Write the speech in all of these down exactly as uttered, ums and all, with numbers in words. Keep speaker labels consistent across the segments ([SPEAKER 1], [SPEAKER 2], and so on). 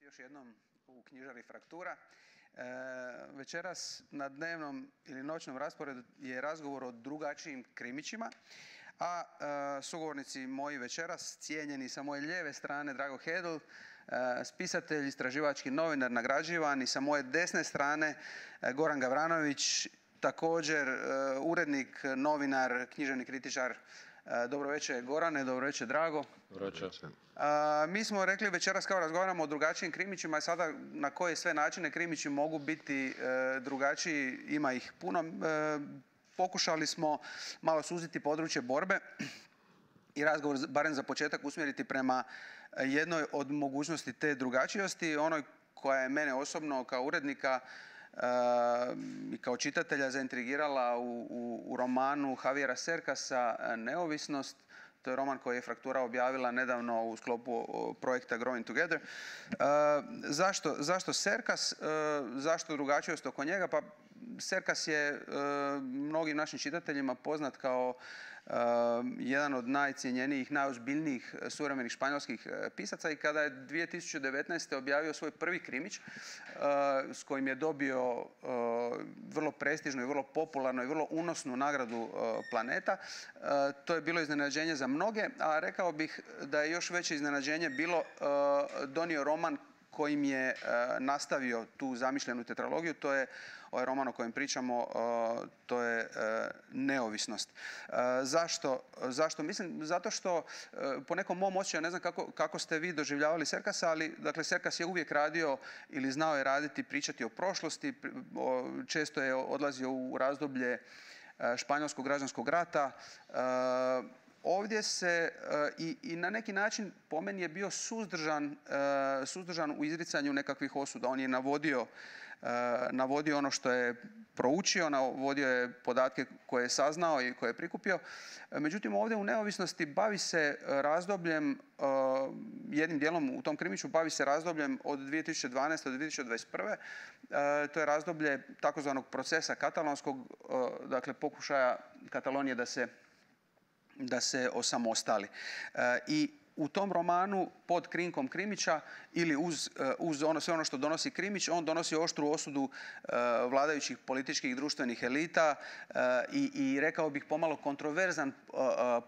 [SPEAKER 1] Još jednom u knjižari Fraktura. E, večeras na dnevnom ili noćnom rasporedu je razgovor o drugačijim krimićima, a e, sugovornici moji večeras, cijenjeni sa moje lijeve strane Drago Hedl, e, spisatelj, istraživački novinar, nagrađivan, i sa moje desne strane e, Goran Gavranović, također e, urednik, novinar, književni kritičar. Dobro večer Gorane, dobro večer Drago.
[SPEAKER 2] Dobro večer.
[SPEAKER 1] Mi smo rekli večeras kao razgovaramo o drugačijim krimićima i sada na koje sve načine krimići mogu biti e, drugačiji, ima ih puno. E, pokušali smo malo suziti područje borbe i razgovor, barem za početak, usmjeriti prema jednoj od mogućnosti te drugačijosti, onoj koja je mene osobno kao urednika i kao čitatelja zaintrigirala u, u, u romanu Javiera Cercasa Neovisnost. To je roman koji je Fraktura objavila nedavno u sklopu projekta Growing Together. E, zašto, zašto Cercas? E, zašto drugačijost oko njega? Pa Cercas je e, mnogim našim čitateljima poznat kao e, jedan od najcijenjenijih, najozbiljnijih suvremenih španjolskih pisaca, i kada je dvije tisuće devetnaeste. objavio svoj prvi krimić e, s kojim je dobio e, vrlo prestižnu i vrlo popularnu i vrlo unosnu nagradu e, Planeta, e, to je bilo iznenađenje za mnoge, a rekao bih da je još veće iznenađenje bilo e, donio roman kojim je e, nastavio tu zamišljenu tetralogiju. To je ovaj roman o kojem pričamo, e, to je e, Neovisnost. E, zašto? Zašto? Mislim, zato što e, po nekom mom osjećaju, ne znam kako, kako ste vi doživljavali Cercasa, ali dakle, Cercas je uvijek radio ili znao je raditi, pričati o prošlosti, o, često je odlazio u razdoblje e, španjolskog građanskog rata. E, Ovdje se uh, i, i na neki način po meni je bio suzdržan, uh, suzdržan u izricanju nekakvih osuda. On je navodio, uh, navodio ono što je proučio, navodio je podatke koje je saznao i koje je prikupio. Međutim, ovdje u Neovisnosti bavi se razdobljem, uh, jednim dijelom u tom krimiću bavi se razdobljem od dvije tisuće dvanaeste. do dvije tisuće dvadeset prve. Uh, to je razdoblje takozvanog procesa katalonskog, uh, dakle pokušaja Katalonije da se da se osamostali. E, I u tom romanu pod krinkom krimića ili uz, uz ono, sve ono što donosi krimić, on donosi oštru osudu e, vladajućih političkih i društvenih elita e, i, i rekao bih pomalo kontroverzan e,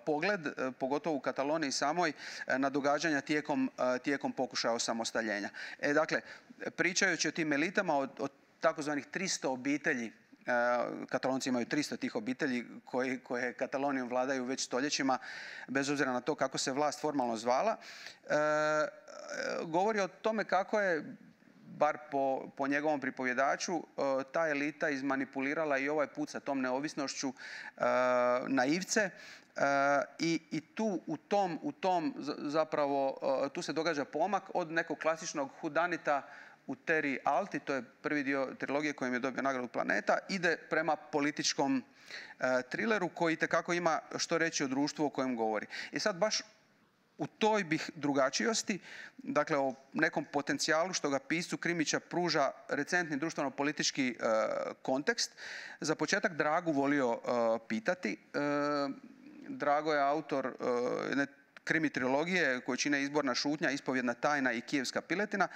[SPEAKER 1] pogled, e, pogotovo u Kataloniji samoj, e, na događanja tijekom, e, tijekom pokušaja osamostaljenja. E, dakle, pričajući o tim elitama, o, o takozvanih tristo obitelji, Katalonci imaju tristo tih obitelji koji, koje Katalonijom vladaju već stoljećima, bez obzira na to kako se vlast formalno zvala. E, govori o tome kako je, bar po, po njegovom pripovjedaču, ta elita izmanipulirala i ovaj put sa tom neovisnošću e, naivce. E, i, i tu u tom, u tom zapravo tu se događa pomak od nekog klasičnog hudanita u Terry Alti, to je prvi dio trilogije kojim je dobio nagradu Planeta, ide prema političkom e, trileru koji itekako ima što reći o društvu o kojem govori. I sad baš u toj bih drugačijosti, dakle o nekom potencijalu što ga piscu krimića pruža recentni društveno-politički e, kontekst, za početak Dragu volio e, pitati. E, Drago je autor jedne krimi trilogije koju čine Izborna šutnja, Ispovjedna tajna i Kijevska piletina,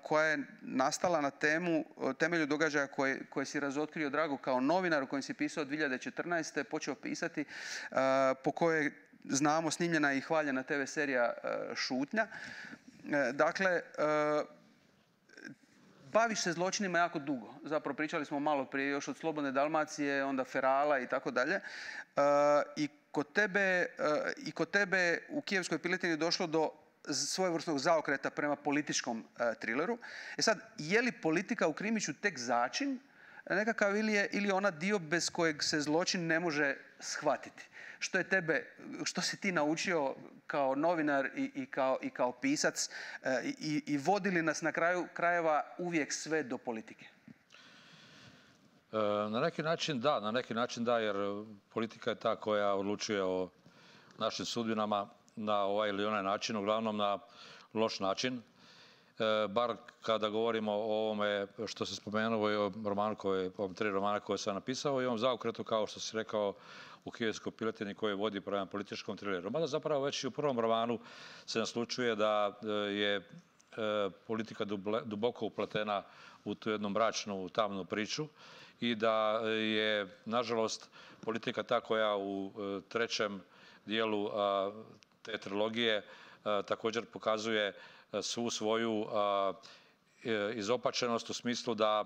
[SPEAKER 1] koja je nastala na temu, temelju događaja koje, koje si razotkrio Drago kao novinar, u kojem si pisao dvije tisuće četrnaeste. počeo pisati, po kojoj znamo snimljena i hvaljena te ve serija Šutnja. Dakle, baviš se zločinima jako dugo. Zapravo pričali smo malo prije još od Slobodne Dalmacije, onda Ferala i tako dalje. I kod tebe, i kod tebe u Kijevskoj piletini došlo do svojevrsnog zaokreta prema političkom trileru. E sad, je li politika u krimiću tek začin nekakav ili je ili ona dio bez kojeg se zločin ne može shvatiti? Što je tebe, što si ti naučio kao novinar i, i, kao, i kao pisac i, i vodi li nas na kraju krajeva uvijek sve do politike?
[SPEAKER 2] Na neki način da, na neki način da, jer politika je ta koja odlučuje o našim sudbinama na ovaj ili onaj način, uglavnom na loš način. E, bar kada govorimo o ovome što se spomenuo i o romanu koje, o tri romana koje sam napisao i ovom zaokretu, kao što si rekao, u Kijevskoj piletini koji vodi prema političkom trileru. Mada zapravo već i u prvom romanu se naslučuje da je politika duboko upletena u tu jednu mračnu, tamnu priču i da je, nažalost, politika ta koja u trećem dijelu te trilogije također pokazuje svu svoju izopačenost u smislu da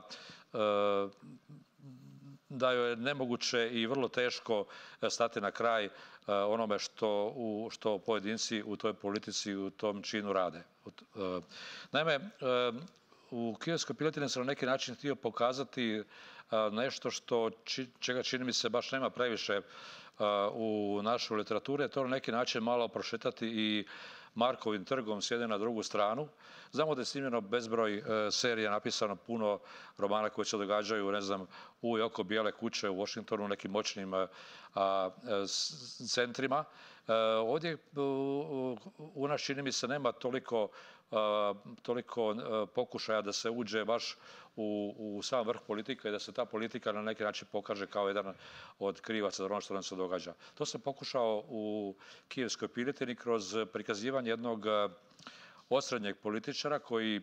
[SPEAKER 2] da joj je nemoguće i vrlo teško stati na kraj onome što, u, što pojedinci u toj politici, u tom činu rade. Naime, u Kijevskoj piletini sam na neki način htio pokazati nešto što, čega čini mi se baš nema previše u našoj literaturi, a to na neki način malo prošetati i Markovim trgom s jedne na drugu stranu. Znamo da je snimljeno bezbroj serija, napisano puno romana koji se događaju, ne znam, u i oko Bijele kuće u Washingtonu, u nekim moćnim a, a, centrima. E, ovdje u, u nas, čini mi se, nema toliko, a, toliko a, pokušaja da se uđe baš u, u sam vrh politika i da se ta politika na neki način pokaže kao jedan od krivaca za ono što nam se događa. To sam pokušao u Kijevskoj piletini kroz prikazivanje jednog osrednjeg političara koji,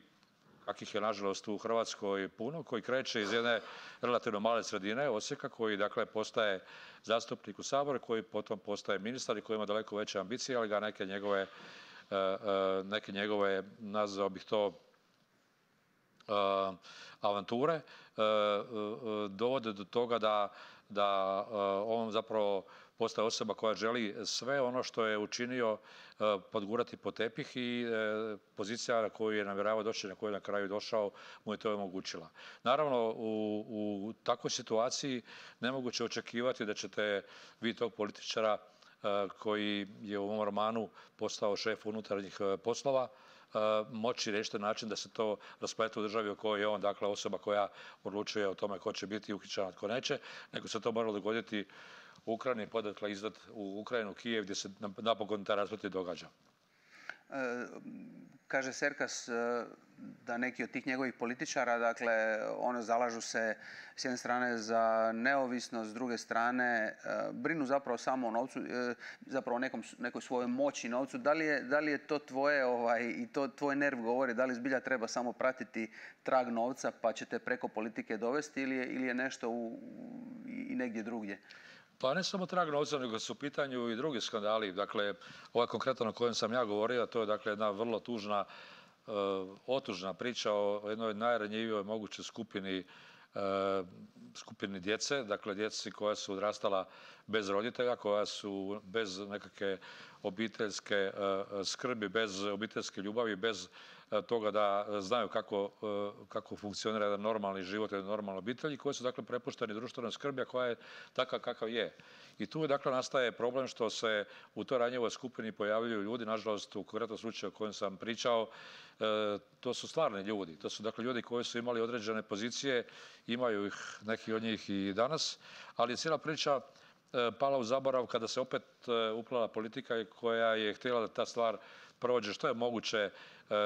[SPEAKER 2] kakvih je nažalost u Hrvatskoj puno, koji kreće iz jedne relativno male sredine, Osijeka, koji dakle postaje zastupnik u Saboru, koji potom postaje ministar i koji ima daleko veće ambicije, ali ga neke njegove, neke njegove, nazvao bih to, avanture dovode do toga da, da on zapravo postaje osoba koja želi sve ono što je učinio podgurati pod tepih i pozicija na koju je namjeravao doći, na koju je na kraju došao, mu je to omogućila. Naravno, u, u takvoj situaciji nemoguće očekivati da ćete vi tog političara koji je u ovom romanu postao šef unutarnjih poslova moći riješiti način da se to rasplete u državi u kojoj je on, dakle, osoba koja odlučuje o tome ko će biti uhićen, a tko neće, nego se to moralo dogoditi u Ukrajini, podakle izdat u Ukrajinu, Kijev, gdje se napokon ta rasplet događa.
[SPEAKER 1] E, kaže Serkas da neki od tih njegovih političara, dakle, ono zalažu se s jedne strane za neovisnost, s druge strane brinu zapravo samo o novcu, zapravo o nekom, nekoj svojoj moći novcu. Da li je, da li je to tvoje, ovaj, i to tvoj nerv govori, da li zbilja treba samo pratiti trag novca pa ćete preko politike dovesti ili je, ili je nešto u, i negdje drugdje?
[SPEAKER 2] Pa ne samo trag novca, nego su u pitanju i drugi skandali. Dakle, ovaj konkretan o kojem sam ja govorio, to je dakle jedna vrlo tužna, uh, otužna priča o jednoj najranjivijoj mogućoj skupini, uh, skupini djece, dakle djeci koja su odrastala bez roditelja, koja su bez nekakve obiteljske uh, skrbi, bez obiteljske ljubavi, bez toga da znaju kako, kako funkcionira jedan normalni život, jedan normalna obitelj i koji su dakle prepušteni društvenoj skrbi, a koja je takav kakav je. I tu dakle nastaje problem što se u toj ranjivoj skupini pojavljuju ljudi, nažalost u konkretnom slučaju o kojem sam pričao, to su stvarni ljudi. To su dakle ljudi koji su imali određene pozicije, imaju ih neki od njih i danas, ali je cijela priča pala u zaborav kada se opet uplela politika koja je htjela da ta stvar prođe što je moguće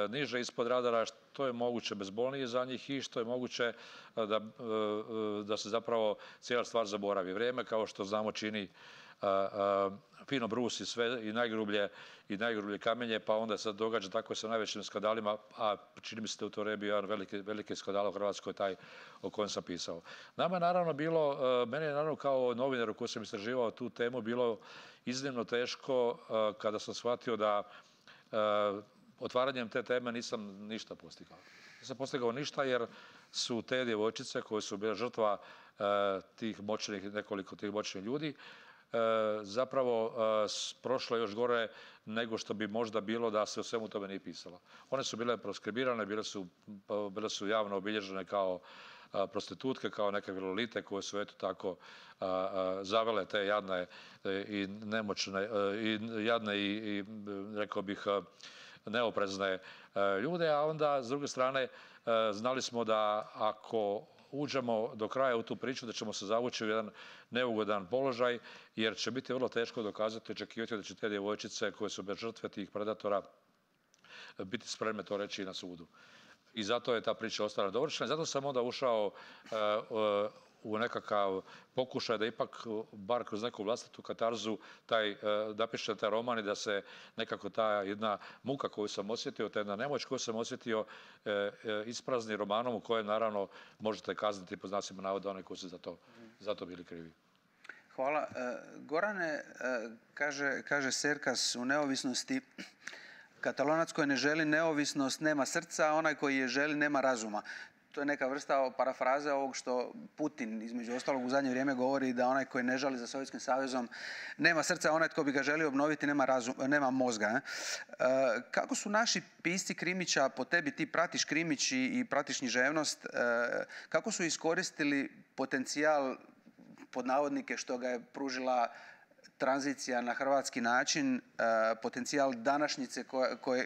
[SPEAKER 2] niže ispod radara, što je moguće bezbolnije za njih i što je moguće da, da se zapravo cijela stvar zaboravi. Vrijeme, kao što znamo, čini fino brusi sve i najgrublje i najgrublje kamenje, pa onda se događa tako sa najvećim skandalima, a čini mi se da u to rebi jedan veliki, veliki skandal u Hrvatskoj, taj o kojem sam pisao. Nama je naravno bilo, meni je naravno kao novinaru koji sam istraživao tu temu bilo iznimno teško kada sam shvatio da otvaranjem te teme nisam ništa postigao. Nisam postigao ništa jer su te djevojčice koje su bile žrtva tih moćnih, nekoliko tih moćnih ljudi, zapravo prošlo još gore nego što bi možda bilo da se o svemu tome nije pisalo. One su bile proskribirane, bile su, bile su javno obilježene kao prostitutke, kao neke lolite koje su eto tako zavele te jadne i nemoćne, i jadne i, i rekao bih neoprezne ljude, a onda s druge strane znali smo da ako uđemo do kraja u tu priču da ćemo se zavući u jedan neugodan položaj jer će biti vrlo teško dokazati, očekivati da će te djevojčice koje su bez žrtve tih predatora biti spremne to reći i na sudu. I zato je ta priča ostala dovršena. Zato sam onda ušao u nekakav pokušaj da ipak, bar kroz neku vlastitu katarzu, taj, napiše taj roman i da se nekako ta jedna muka koju sam osjetio, ta jedna nemoć koju sam osjetio, isprazni romanom u kojem naravno možete kazniti po znacima navoda one koji su za to, za to bili krivi.
[SPEAKER 1] Hvala. Gorane, kaže, kaže Serkas u Neovisnosti, Katalonac koji ne želi neovisnost nema srca, a onaj koji je želi nema razuma. To je neka vrsta parafraze ovog što Putin, između ostalog, u zadnje vrijeme govori, da onaj koji ne žali za Sovjetskim savezom nema srca, a onaj tko bi ga želio obnoviti nema, razum, nema mozga. Ne? E, kako su naši pisci krimića, po tebi ti pratiš krimić i, i pratiš književnost, e, kako su iskoristili potencijal, pod navodnike, što ga je pružila tranzicija na hrvatski način, potencijal današnjice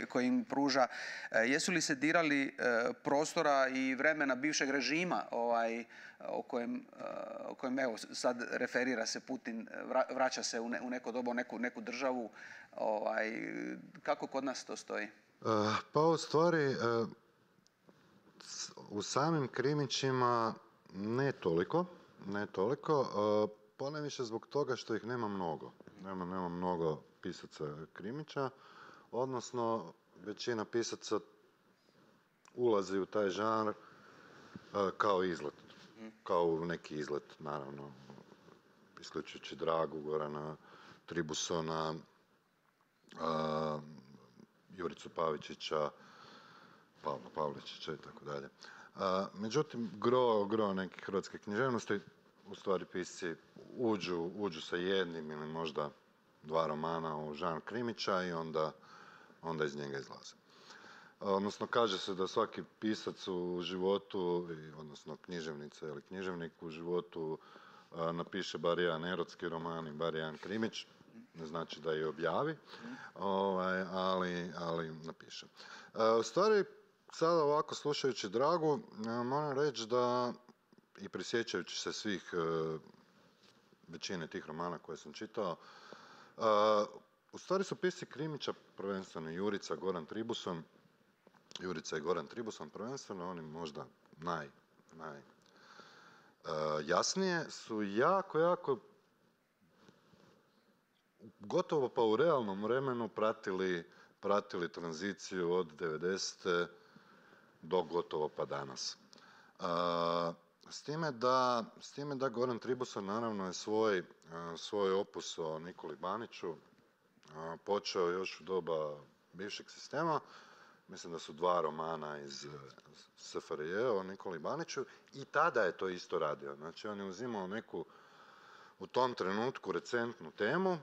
[SPEAKER 1] koji im pruža? Jesu li se dirali prostora i vremena bivšeg režima ovaj, o, kojem, o kojem evo sad referira se Putin, vraća se u, ne, u neko doba, u neku, neku državu? Ovaj, kako kod nas to stoji?
[SPEAKER 3] Pa u stvari u samim krimićima ne toliko, ne toliko. Ponajviše zbog toga što ih nema mnogo. Nema, nema mnogo pisaca krimića, odnosno većina pisaca ulazi u taj žanr kao izlet, kao u neki izlet, naravno, isključujući Dragu, Gorana Tribusona, a, Juricu Pavičića, Pavla Pavličića i tako dalje. Međutim, gro, gro nekih hrvatskih književnosti, u stvari pisci uđu, uđu sa jednim ili možda dva romana u žanr krimića i onda, onda iz njega izlaze. Odnosno, kaže se da svaki pisac u životu, odnosno književnica ili književnik u životu napiše bar jedan erotski roman i bar jedan krimić. Ne znači da je objavi, ovaj, ali, ali napiše. U stvari, sada ovako slušajući Dragu, moram reći da i prisjećajući se svih uh, većine tih romana koje sam čitao, uh, u stvari su pisci krimića, prvenstveno Jurica, Goran Tribuson, Jurica i Goran Tribuson prvenstveno, oni možda naj, naj uh, jasnije, su jako, jako gotovo pa u realnom vremenu pratili, pratili tranziciju od devedesete do gotovo pa danas. Uh, S time, da, s time da Goran Tribuson naravno je svoj, svoj opus o Nikoli Baniću počeo još u doba bivšeg sistema. Mislim da su dva romana iz S F R J o Nikoli Baniću i tada je to isto radio. Znači on je uzimao neku u tom trenutku recentnu temu,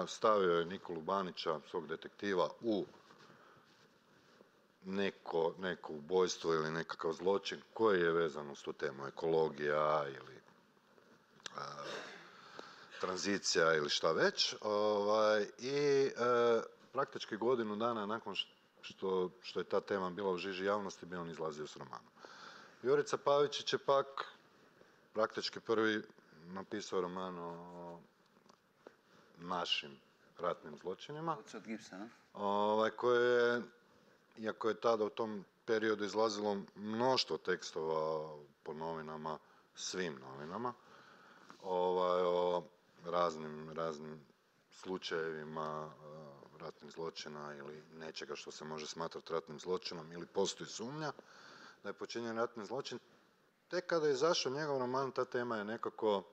[SPEAKER 3] stavio je Nikolu Banića, svog detektiva, u neko, neko ubojstvo ili nekakav zločin koji je vezan uz tu temu, ekologija ili a, tranzicija ili šta već. Ovaj, I a, praktički godinu dana nakon što, što je ta tema bila u žiži javnosti, bi on izlazio s romanom. Jurica Pavičić je pak praktički prvi napisao roman o našim ratnim zločinima.
[SPEAKER 1] Od Gibsona.
[SPEAKER 3] Ovaj, koje je, iako je tada u tom periodu izlazilo mnoštvo tekstova po novinama, svim novinama, ovaj, o raznim, raznim slučajevima uh, ratnih zločina ili nečega što se može smatrati ratnim zločinom ili postoji sumnja da je počinjen ratni zločin. Tek kada je izašao njegov roman, ta tema je nekako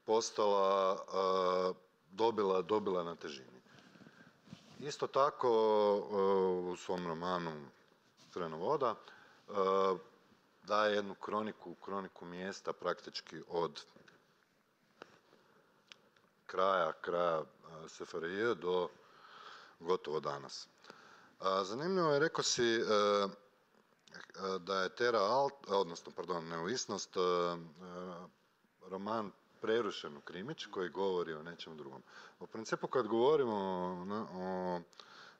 [SPEAKER 3] postala, uh, dobila, dobila na težini. Isto tako u svom romanu Crvena voda daje jednu kroniku, kroniku mjesta praktički od kraja, kraja S F R J do gotovo danas. Zanimljivo je, rekao si da je Terra Alt, odnosno, pardon, Neovisnost, roman prerušen u krimić koji govori o nečem drugom. U principu kad govorimo o,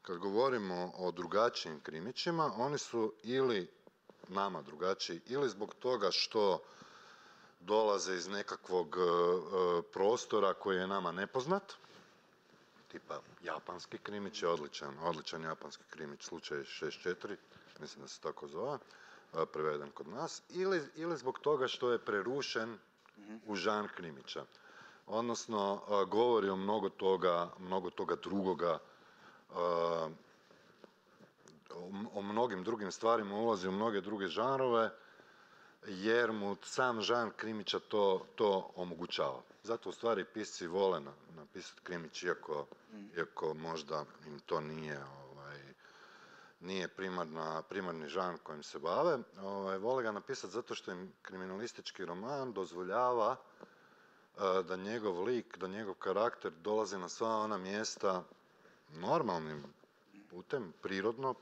[SPEAKER 3] kad govorimo o drugačijim krimićima, oni su ili nama drugačiji ili zbog toga što dolaze iz nekakvog uh, prostora koji je nama nepoznat, tipa japanski krimić je odličan, odličan japanski krimić, slučaj šezdeset četiri, mislim da se tako zove, uh, preveden kod nas, ili, ili zbog toga što je prerušen u žanr krimića. Odnosno, govori o mnogo toga, mnogo toga drugoga, o mnogim drugim stvarima, ulazi u mnoge druge žanrove, jer mu sam žanr krimića to, to omogućava. Zato u stvari pisci vole napisati krimić, iako, iako možda im to nije, ovaj, nije primarna, primarni žanr kojim se bave. Ovaj, vole ga napisati zato što im kriminalistički roman dozvoljava da njegov lik, da njegov karakter dolazi na sva ona mjesta normalnim putem, prirodno,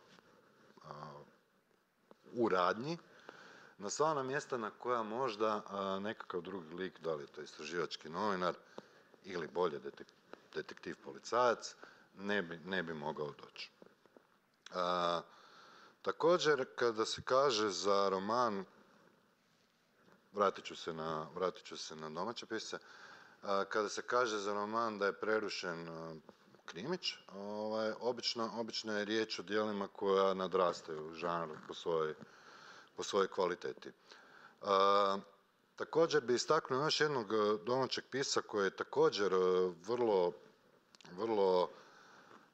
[SPEAKER 3] u radnji, na sva ona mjesta na koja možda nekakav drugi lik, da li je to istraživački novinar ili bolje detek, detektiv policajac, ne bi, ne bi mogao doći. A, također, kada se kaže za roman, vratit ću se na, vratit ću se na domaće pisce, a, kada se kaže za roman da je prerušen a, krimić, ovaj, obično, obično je riječ o djelima koja nadrastaju žanr po svojoj, po svojoj kvaliteti. A, također bi istaknuo još jednog domaćeg pisca koji je također vrlo, vrlo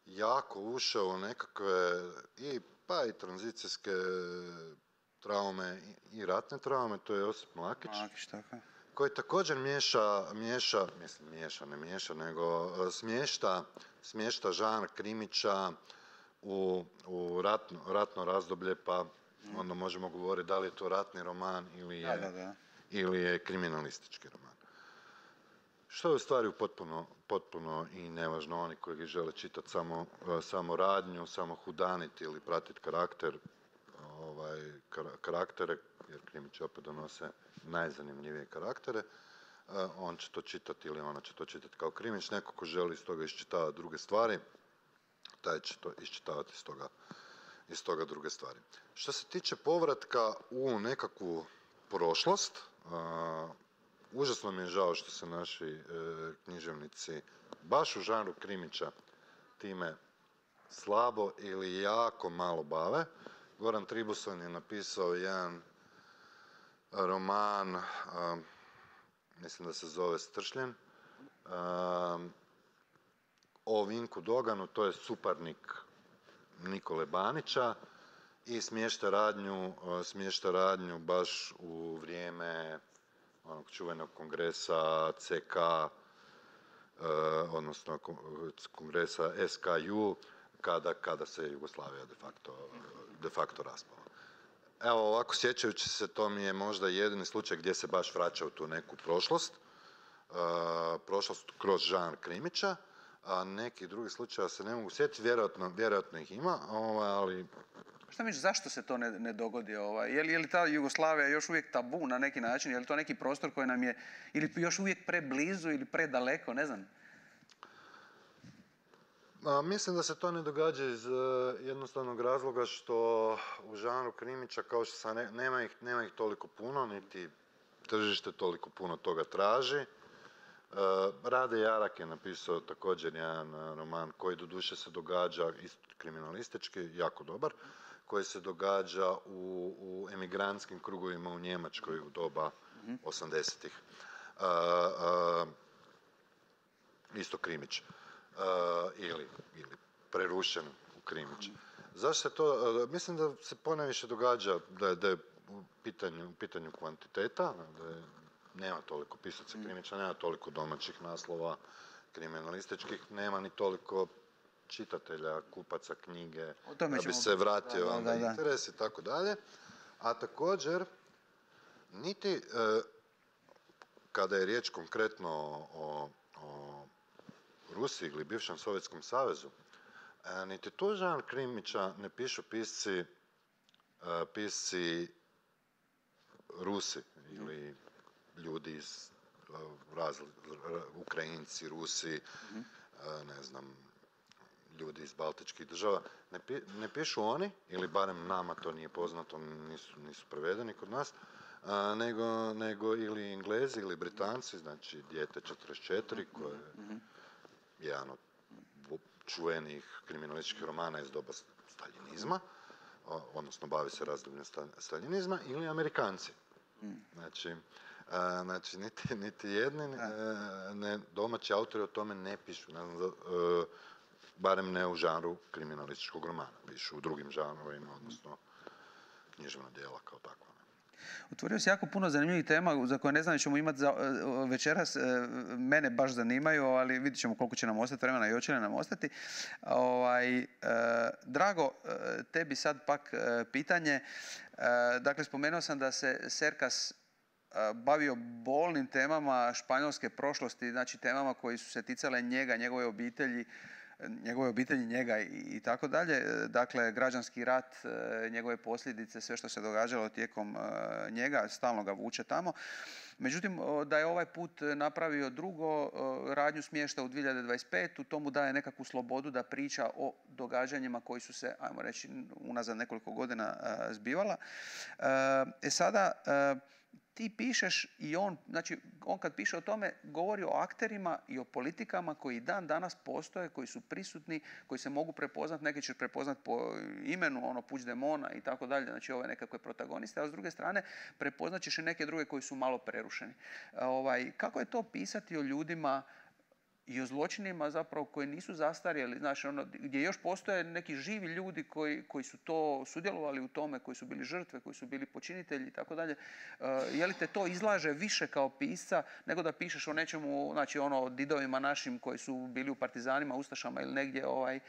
[SPEAKER 3] jako ušao u nekakve i, pa i tranzicijske traume i ratne traume, to je Josip Mlakić.
[SPEAKER 1] Mlakić, tako.
[SPEAKER 3] Koji također miješa, miješa, mislim miješa, ne miješa, nego smješta, smješta žanr krimića u, u ratno, ratno razdoblje, pa mm. onda možemo govoriti da li je to ratni roman ili je,
[SPEAKER 1] da, da, da.
[SPEAKER 3] ili je kriminalistički roman. Što je u stvari potpuno, potpuno i nevažno, oni koji žele čitati samo, samo radnju, samo hudaniti ili pratiti karakter, ovaj, karaktere, jer krimići opet donose najzanimljivije karaktere, on će to čitati ili ona će to čitati kao krimić. Neko ko želi iz toga iščitavati druge stvari, taj će to iščitavati iz toga, iz toga druge stvari. Što se tiče povratka u nekakvu prošlost, uh, užasno mi je žao što se naši e, književnici baš u žanru krimića time slabo ili jako malo bave. Goran Tribuson je napisao jedan roman, a, mislim da se zove Stršljen, a, o Vinku Doganu, to je suparnik Nikole Banića i smješta radnju, smješta radnju baš u vrijeme onog čuvenog kongresa C K, eh, odnosno kongresa S K U, kada, kada se Jugoslavija de facto, de facto raspala. Evo, ovako sjećajući se, to mi je možda jedini slučaj gdje se baš vraća u tu neku prošlost, eh, prošlost kroz žanr krimića, a neki drugi slučaja se ne mogu sjetiti, vjerojatno, vjerojatno ih ima, ali...
[SPEAKER 1] Šta misliš, zašto se to ne, ne dogodi? Ovaj? Je li, je li ta Jugoslavija još uvijek tabu na neki način? Je li to neki prostor koji nam je ili još uvijek preblizu ili predaleko? Ne znam.
[SPEAKER 3] A, mislim da se to ne događa iz uh, jednostavnog razloga što u žanru krimića, kao što sam ne, nema, ih, nema ih toliko puno, niti tržište toliko puno toga traži. Uh, Rade Jarak je napisao također jedan uh, roman koji doduše se događa isto kriminalistički, jako dobar, koji se događa u, u emigrantskim krugovima u Njemačkoj u doba mm-hmm. osamdesetih. Uh, uh, isto krimić. Uh, ili, ili prerušen u krimić. Mm-hmm. Zašto se to, uh, mislim da se ponajviše događa da je, da je u, pitanju, u pitanju kvantiteta, da je, nema toliko pisaca krimića, nema toliko domaćih naslova kriminalističkih, nema ni toliko čitatelja, kupaca knjige, da bi se vratio da, onda da, da. interes i tako dalje. A također, niti e, kada je riječ konkretno o, o Rusiji ili bivšem Sovjetskom savezu, e, niti tu žanr krimića ne pišu pisci, e, pisci Rusi ili ljudi iz raz, Ukrajinci, Rusi, mm-hmm. e, ne znam, ljudi iz baltičkih država, ne, pi, ne pišu oni, ili barem nama to nije poznato, nisu, nisu prevedeni kod nas, a, nego, nego ili Englezi ili Britanci, znači Dijete četrdeset četiri, koje je mm-hmm. jedan od čuvenih kriminalističkih romana iz doba staljinizma, odnosno bavi se razdobljem staljinizma, ili Amerikanci. Mm. Znači, A, znači, niti, niti jedni ne, ne, domaći autori o tome ne pišu. Ne znam, uh, barem ne u žanru kriminalističkog romana. Pišu u drugim žanrovima, odnosno književna djela kao takva.
[SPEAKER 1] Otvorio si jako puno zanimljivih tema za koje ne znam ćemo imati za, večeras. Mene baš zanimaju, ali vidjet ćemo koliko će nam ostati vremena i hoće li nam ostati. Ovaj, eh, Drago, tebi sad pak eh, pitanje. Eh, dakle, spomenuo sam da se Cercas eh, bavio bolnim temama španjolske prošlosti, znači temama koji su se ticale njega, njegove obitelji, njegove obitelji, njega i, i tako dalje. Dakle, građanski rat, njegove posljedice, sve što se događalo tijekom njega, stalno ga vuče tamo. Međutim, da je ovaj put napravio drugo, radnju smješta u dvije hiljade dvadeset petu, to mu daje nekakvu slobodu da priča o događanjima koji su se, ajmo reći, unazad nekoliko godina zbivala. E sada, ti pišeš i on, znači on kad piše o tome govori o akterima i o politikama koji dan danas postoje, koji su prisutni, koji se mogu prepoznat, neki će prepoznat po imenu, ono Puigdemona i tako dalje, znači ove nekakve protagoniste, a s druge strane prepoznat ćeš i neke druge koji su malo prerušeni. Ovaj, kako je to pisati o ljudima i o zločinima zapravo koji nisu zastarjeli, znači ono, gdje još postoje neki živi ljudi koji, koji su to sudjelovali u tome, koji su bili žrtve, koji su bili počinitelji i tako dalje. Je li te to izlaže više kao pisca nego da pišeš o nečemu, znači ono o didovima našim koji su bili u partizanima, ustašama ili negdje ovaj, e,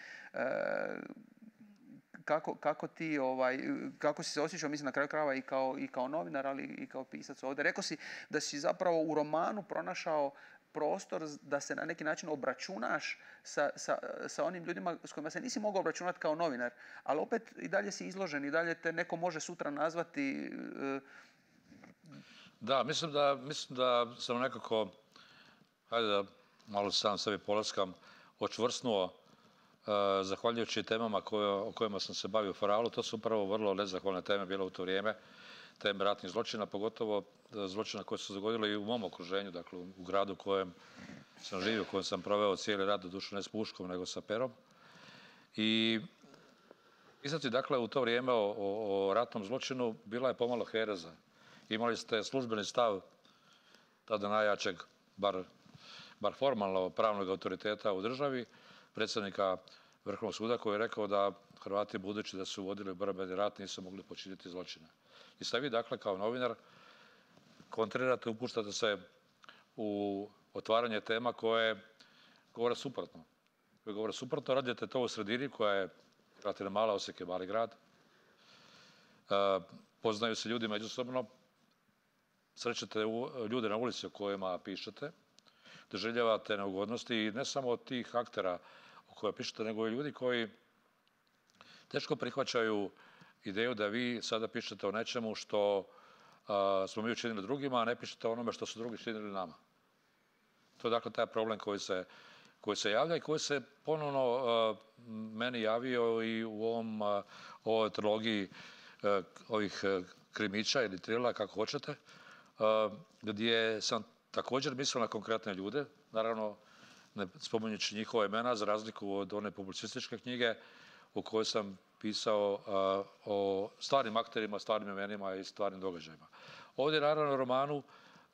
[SPEAKER 1] kako, kako ti, ovaj, kako si se osjećao, mislim na kraju krajeva i kao, i kao novinar, ali i kao pisac ovdje. Rekao si da si zapravo u romanu pronašao prostor da se na neki način obračunaš sa, sa, sa onim ljudima s kojima se nisi mogao obračunati kao novinar, ali opet i dalje si izložen, i dalje te neko može sutra nazvati. Uh...
[SPEAKER 2] Da, mislim da, mislim da sam nekako, hajde da malo sam sebi polaskam, očvrsnuo uh, zahvaljujući temama koje, o kojima sam se bavio u Faralu. To su upravo vrlo nezahvalne teme bile u to vrijeme. Teme ratnih zločina, pogotovo zločina koje su se dogodile i u mom okruženju, dakle u gradu u kojem sam živio, u kojem sam proveo cijeli rad, doduše ne s puškom, nego sa perom. I pisati, dakle, u to vrijeme o, o, o ratnom zločinu bila je pomalo hereza. Imali ste službeni stav tada najjačeg, bar, bar formalno pravnog autoriteta u državi, predsjednika Vrhovnog suda, koji je rekao da Hrvati, budući da su vodili borbeni rat, nisu mogli počiniti zločine. I sad vi, dakle, kao novinar, kontrirate, upuštate se u otvaranje tema koje govore suprotno. Koje govore suprotno, radite to u sredini koja je, relativno mala, Osijek je mali grad. E, poznaju se ljudi međusobno, srećete ljude na ulici o kojima pišete, doživljavate neugodnosti i ne samo od tih aktera o kojima pišete, nego i ljudi koji teško prihvaćaju ideju da vi sada pišete o nečemu što a, smo mi učinili drugima, a ne pišete o onome što su drugi činili nama. To je dakle taj problem koji se, koji se javlja i koji se ponovno a, meni javio i u ovom, a, ovoj trilogiji a, ovih a, krimića ili thrillera, kako hoćete, a, gdje sam također mislio na konkretne ljude, naravno ne spominjući njihova imena, za razliku od one publicističke knjige u kojoj sam pisao uh, o stvarnim akterima, stvarnim imenima i stvarnim događajima. Ovdje, naravno, romanu,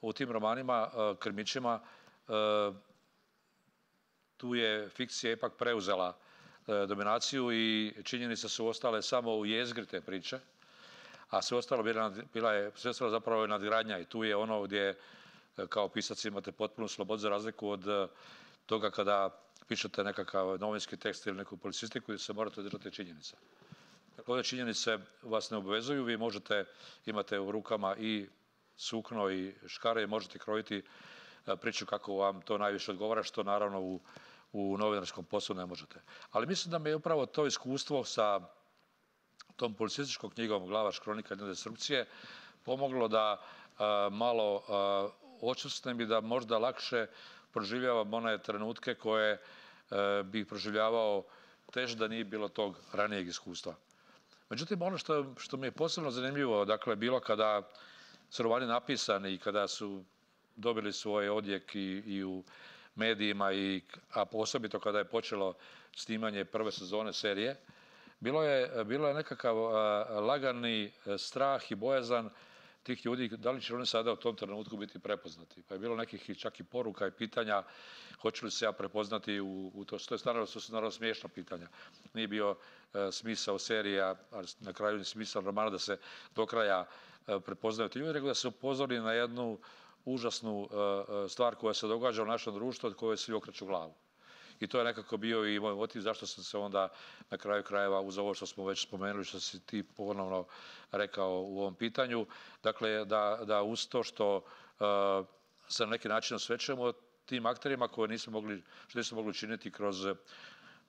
[SPEAKER 2] u tim romanima, uh, krimićima, uh, tu je fikcija ipak preuzela uh, dominaciju i činjenice su ostale samo u jezgri te priče, a sve ostalo bila, bila je, sve ostalo zapravo je nadgradnja i tu je ono gdje uh, kao pisac imate potpunu slobodu za razliku od uh, toga kada pišete nekakav novinski tekst ili neku publicistiku gdje se morate držati činjenica. Dakle, ove činjenice vas ne obvezuju, vi možete, imate u rukama i sukno i škare i možete krojiti priču kako vam to najviše odgovara, što naravno u, u novinarskom poslu ne možete. Ali mislim da mi je upravo to iskustvo sa tom publicističkom knjigom Glavaš, kronika jedne destrukcije pomoglo da a, malo a, očvrsnem i da možda lakše proživljavam one trenutke koje e, bih proživljavao teže da nije bilo tog ranijeg iskustva. Međutim, ono što, što mi je posebno zanimljivo, dakle, bilo kada su romani napisani i kada su dobili svoj odjek i, i u medijima, i, a osobito kada je počelo snimanje prve sezone serije, bilo je, bilo je nekakav a, lagani strah i bojazan tih ljudi, da li će oni sada u tom trenutku biti prepoznati. Pa je bilo nekih čak i poruka i pitanja hoće li se ja prepoznati u, u to. To je naravno, to su naravno smiješna pitanja. Nije bio e, smisao serija, a na kraju ni smisao romana da se do kraja e, prepoznaju ti ljudi, nego da se upozori na jednu užasnu e, stvar koja se događa u našem društvu od koje svi okreću glavu. I to je nekako bio i moj motiv zašto sam se onda na kraju krajeva uz ovo što smo već spomenuli, što si ti ponovno rekao u ovom pitanju. Dakle, da, da uz to što uh, se na neki način osvećujemo tim akterima koje nismo mogli, što nismo mogli učiniti kroz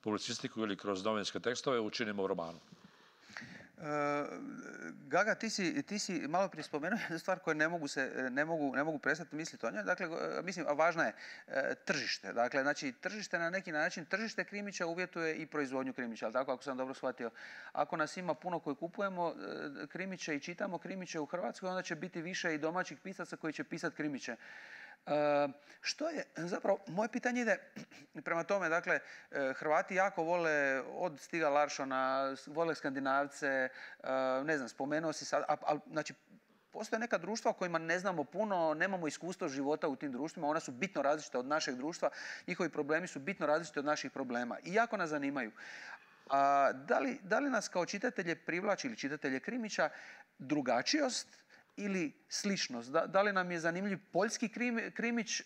[SPEAKER 2] publicistiku ili kroz novinske tekstove, učinimo u romanu.
[SPEAKER 1] Uh, Gaga, ti si, ti si malo prije spomenuo jednu stvar koju ne mogu, se, ne mogu, ne mogu prestati misliti o njoj. Dakle, mislim, a važna je uh, tržište. Dakle, znači, tržište na neki način, tržište krimića uvjetuje i proizvodnju krimića, ali tako, ako sam dobro shvatio. Ako nas ima puno koji kupujemo uh, krimiće i čitamo krimiće u Hrvatskoj, onda će biti više i domaćih pisaca koji će pisati krimiće. Uh, što je, zapravo, moje pitanje ide prema tome, dakle, Hrvati jako vole od Stiga Larssona, vole Skandinavce, uh, ne znam, spomenuo si sad, ali, znači, postoje neka društva o kojima ne znamo puno, nemamo iskustvo života u tim društvima, ona su bitno različita od našeg društva, njihovi problemi su bitno različiti od naših problema i jako nas zanimaju. A, da li, da li nas kao čitatelje privlači ili čitatelje krimića drugačijost ili sličnost? Da, da li nam je zanimljiv poljski krim, krimić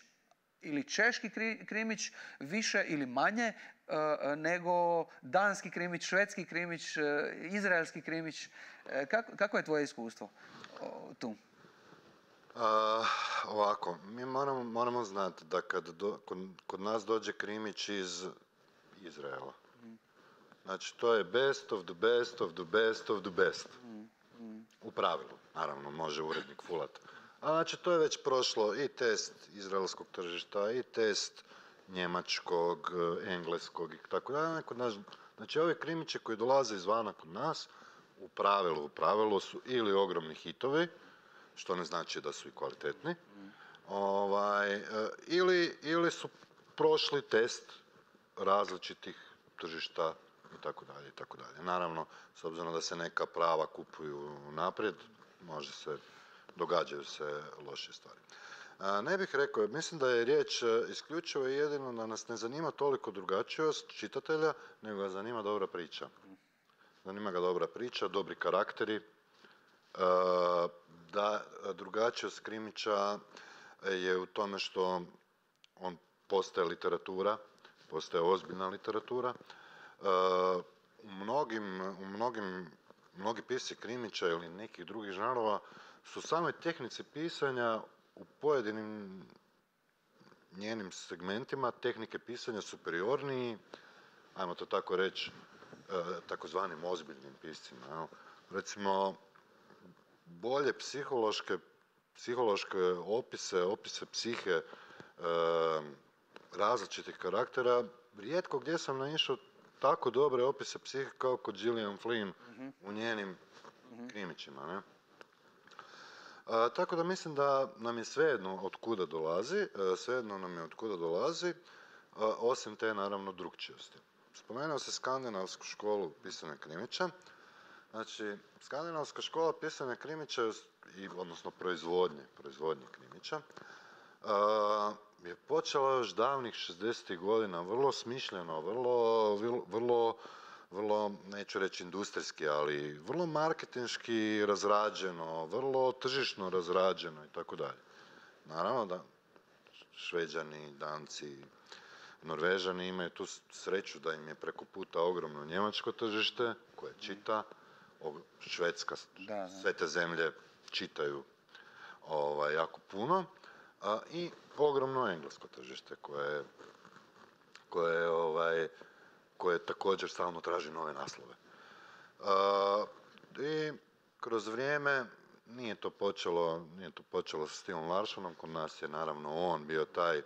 [SPEAKER 1] ili češki kri, krimić više ili manje uh, nego danski krimić, švedski krimić, uh, izraelski krimić? Uh, kako, kako je tvoje iskustvo uh, tu?
[SPEAKER 3] Uh, ovako, mi moramo, moramo znati da kad do, kod, kod nas dođe krimić iz Izraela, mm. znači to je best of the best of the best of the best. Mm. Mm. U pravilu, naravno, može urednik fulat. A znači, to je već prošlo i test izraelskog tržišta, i test njemačkog, engleskog i tako dalje. Znači, ove krimiće koji dolaze izvana kod nas, u pravilu, u pravilu su ili ogromni hitovi, što ne znači da su i kvalitetni, mm. ovaj, ili, ili su prošli test različitih tržišta i tako dalje, i tako dalje. Naravno, s obzirom da se neka prava kupuju naprijed, može se, događaju se loše stvari. A, ne bih rekao, mislim da je riječ isključivo i jedino da nas ne zanima toliko drugačijost čitatelja, nego ga zanima dobra priča. Zanima ga dobra priča, dobri karakteri, a, da drugačijost krimića je u tome što on postaje literatura, postaje ozbiljna literatura. Uh, u mnogim, u mnogim, mnogi pisci krimića ili nekih drugih žanrova su samoj tehnici pisanja u pojedinim njenim segmentima tehnike pisanja superiorniji, ajmo to tako reći, uh, takozvanim ozbiljnim piscima. Jel? Recimo, bolje psihološke, psihološke opise, opise psihe uh, različitih karaktera, rijetko gdje sam naišao tako dobre opise psihe kao kod Gillian Flynn uh-huh. u njenim uh-huh. krimićima. Ne? A, tako da mislim da nam je svejedno od kuda dolazi, a, svejedno nam je od kuda dolazi, a, osim te naravno drukčijosti. Spomenuo se skandinavsku školu pisanja krimića. Znači, skandinavska škola pisanja krimića, i, odnosno proizvodnje, proizvodnje krimića, a, je počela još davnih šezdesetih godina, vrlo smišljeno, vrlo, vrlo, vrlo, neću reći industrijski, ali vrlo marketinški razrađeno, vrlo tržišno razrađeno i tako dalje. Naravno da Šveđani, Danci, Norvežani imaju tu sreću da im je preko puta ogromno njemačko tržište koje čita, Švedska, da, da. Sve te zemlje čitaju ovaj, jako puno. A, i ogromno englesko tržište koje, koje, ovaj, koje također stalno traži nove naslove. A, I kroz vrijeme nije to počelo, nije to počelo sa Stigom Larssonom, kod nas je naravno on bio taj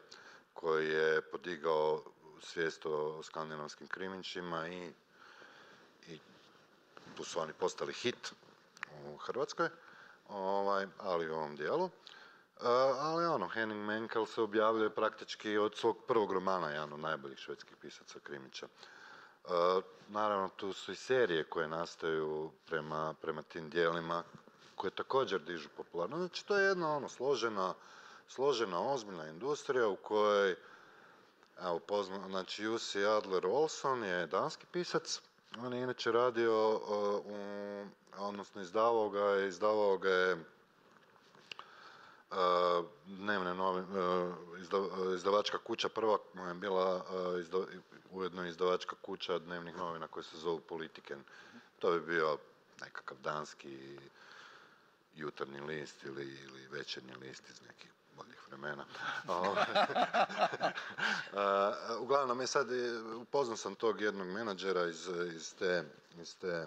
[SPEAKER 3] koji je podigao svijest o skandinavskim krimićima i, i tu su oni postali hit u Hrvatskoj, ovaj, ali u ovom dijelu. Uh, ali ono, Henning Mankell se objavljuje praktički od svog prvog romana, jedan od najboljih švedskih pisaca krimića. Uh, naravno, tu su i serije koje nastaju prema, prema tim dijelima, koje također dižu popularno. Znači, to je jedna ono složena, složena, ozbiljna industrija u kojoj, evo, pozna, znači, Jussi Adler-Olson je danski pisac. On je inače radio, uh, u, odnosno izdavao ga je, izdavao ga je uh, dnevne novi, uh, izda, uh, izdavačka kuća, prva mu je bila uh, izda, ujedno izdavačka kuća dnevnih novina koje se zovu Politiken. To bi bio nekakav danski jutarnji list ili, ili večernji list iz nekih boljih vremena. uh, uglavnom, je sad, upoznao sam tog jednog menadžera iz, iz te, iz te uh,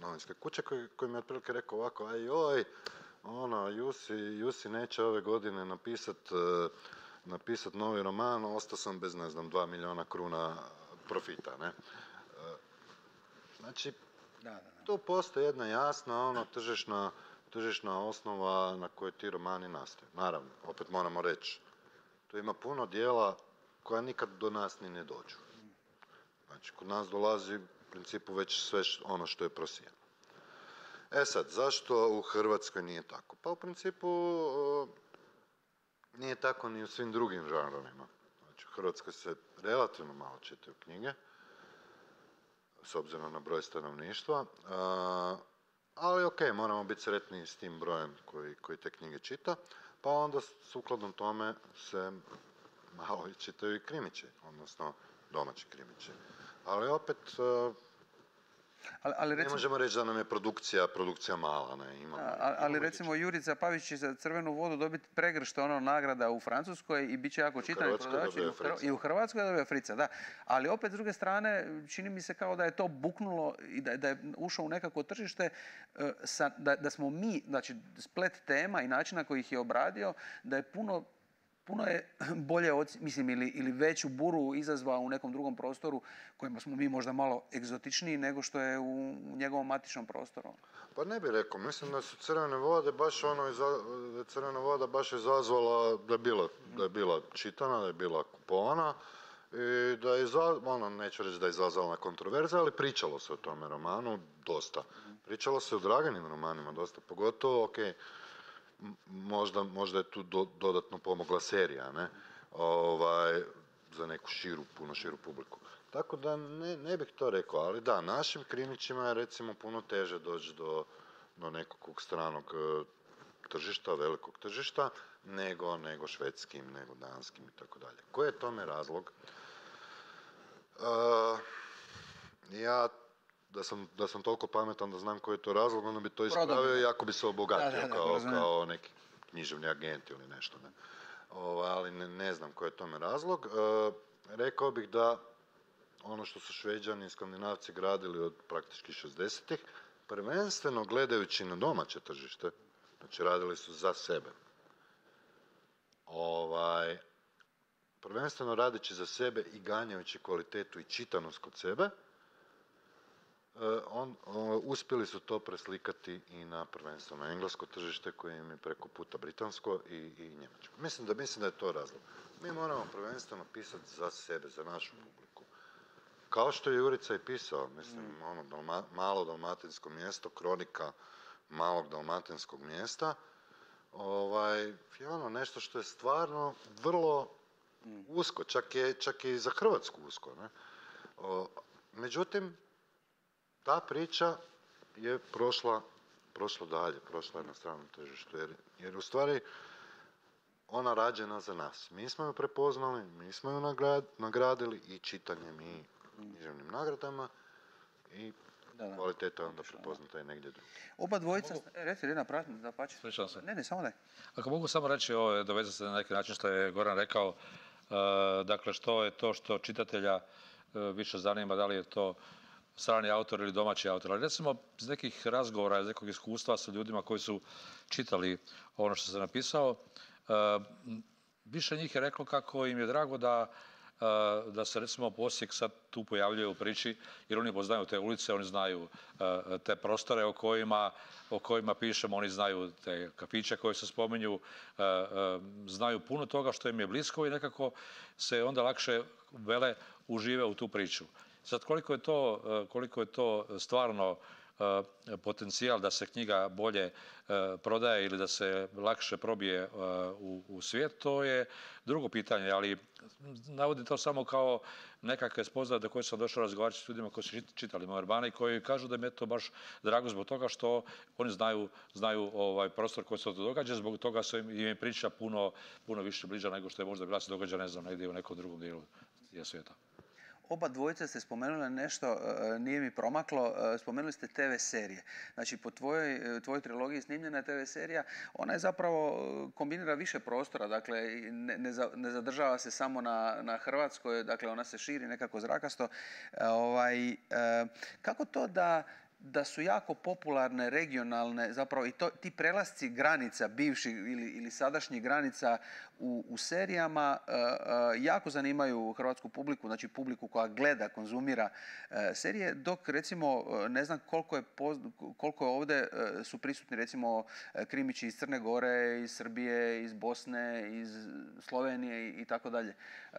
[SPEAKER 3] novinske kuće koji, koji mi je otprilike rekao ovako, aj joj, ono, Jussi, Jussi neće ove godine napisat, uh, napisat novi roman, ostao sam bez, ne znam, dva milijuna kruna profita, ne? Uh, znači,
[SPEAKER 1] Da, da, da.
[SPEAKER 3] tu postoji jedna jasna, ono, tržišna tržišna osnova na kojoj ti romani nastaju. Naravno, opet moramo reći, tu ima puno dijela koja nikad do nas ni ne dođu. Znači, kod nas dolazi u principu već sve ono što je prosijeno. E sad, zašto u Hrvatskoj nije tako? Pa u principu nije tako ni u svim drugim žanrovima. Znači, u Hrvatskoj se relativno malo čitaju knjige, s obzirom na broj stanovništva. Ali ok, moramo biti sretni s tim brojem koji, koji te knjige čita, pa onda sukladno tome se malo i čitaju i krimići, odnosno domaći krimići. Ali opet,
[SPEAKER 1] ali, ali recimo,
[SPEAKER 3] ne možemo reći da nam je produkcija, produkcija mala. Ne? Imamo,
[SPEAKER 1] ali, ali recimo Jurica Pavić će za Crvenu vodu dobiti pregršt ono nagrada u Francuskoj i bit će jako čitan i prodavač i u Hrvatskoj dobije Frica, da. Ali opet s druge strane čini mi se kao da je to buknulo i da, da je ušao u nekako tržište, sa, da, da smo mi, znači splet tema i način na koji ih je obradio, da je puno puno je bolje, mislim, ili, ili veću buru izazvao u nekom drugom prostoru kojima smo mi možda malo egzotičniji nego što je u, u njegovom matičnom prostoru.
[SPEAKER 3] Pa ne bih rekao, mislim da su Crvene vode baš ono, da je Crvena voda baš izazvala da je bila, da je bila čitana, da je bila kupovana i da je, ono, neću reći da je izazvala kontroverze, ali pričalo se o tome romanu dosta. Pričalo se o Draganim romanima dosta, pogotovo, ok, Možda, možda je tu do, dodatno pomogla serija, ne? Ovaj, za neku širu, puno širu publiku. Tako da ne, ne bih to rekao, ali da, našim krimićima je recimo puno teže doći do, do nekog stranog uh, tržišta, velikog tržišta, nego, nego švedskim, nego danskim i tako dalje. Koji je tome razlog? Uh, ja Da sam, da sam toliko pametan da znam koji je to razlog, onda bi to ispravio i ako bi se obogatio da, da, da, kao, kao neki književni agent ili nešto. Ne. O, ali ne, ne znam koji je tome razlog. E, rekao bih da ono što su Šveđani i Skandinavci gradili od praktički šezdesetih, prvenstveno gledajući na domaće tržište, znači radili su za sebe. Ovaj, prvenstveno radeći za sebe i ganjajući kvalitetu i čitanost kod sebe, On, on, uspjeli su to preslikati i na prvenstveno englesko tržište koje im je preko puta britansko i, i njemačko. Mislim da, mislim da je to razlog. Mi moramo prvenstveno pisati za sebe, za našu publiku. Kao što je Jurica i pisao, mislim, mm. ono dalma, malo dalmatinsko mjesto, kronika malog dalmatinskog mjesta, ovaj, je ono nešto što je stvarno vrlo mm. usko, čak je, čak je i za Hrvatsku usko. Ne? O, međutim, ta priča je prošla, prošla dalje, prošla je na stranom tržištu, jer, jer u stvari ona rađena za nas. Mi smo ju prepoznali, mi smo ju nagrad, nagradili i čitanjem i književnim nagradama i da, da. Kvaliteta je onda prepoznata i negdje drugdje.
[SPEAKER 1] Oba dvojica, mogu... e, reci, Rina, pratim, da pače.
[SPEAKER 2] Slišao se.
[SPEAKER 1] Ne, ne, samo daj.
[SPEAKER 2] Ako mogu samo reći, ovo, dovezati se na neki način što je Goran rekao, uh, dakle, što je to što čitatelja uh, više zanima, da li je to strani autor ili domaći autor. Ali recimo, iz nekih razgovora, iz nekog iskustva sa ljudima koji su čitali ono što sam napisao, uh, više njih je reklo kako im je drago da, uh, da se recimo Osijek sad tu pojavljuje u priči, jer oni poznaju te ulice, oni znaju uh, te prostore o kojima, o kojima pišemo, oni znaju te kafiće koje se spominju, uh, uh, znaju puno toga što im je blisko i nekako se onda lakše vele užive u tu priču. Sad, koliko je to, koliko je to stvarno potencijal da se knjiga bolje prodaje ili da se lakše probije u, u svijet, to je drugo pitanje, ali navodim to samo kao nekakve spoznaje do koje sam došao razgovarati s ljudima koji su čitali moje romane i koji kažu da mi je to baš drago zbog toga što oni znaju, znaju ovaj prostor koji se to događa, zbog toga su im, im priča puno, puno više bliža nego što je možda bila se događa, ne znam, negdje u nekom drugom dijelu svijeta.
[SPEAKER 1] Oba dvojice ste spomenuli nešto, nije mi promaklo, spomenuli ste te ve serije. Znači, po tvojoj, tvojoj trilogiji snimljena te ve serija, ona je zapravo kombinira više prostora, dakle, ne, ne, za, ne zadržava se samo na, na Hrvatskoj, dakle, ona se širi nekako zrakasto. Ovaj, kako to da da su jako popularne regionalne, zapravo i to, ti prelasci granica bivših ili, ili sadašnjih granica u, u serijama uh, uh, jako zanimaju hrvatsku publiku, znači publiku koja gleda, konzumira uh, serije, dok recimo uh, ne znam koliko je, poz, koliko je ovdje uh, su prisutni recimo uh, krimići iz Crne Gore, iz Srbije, iz Bosne, iz Slovenije i, i tako dalje. Uh,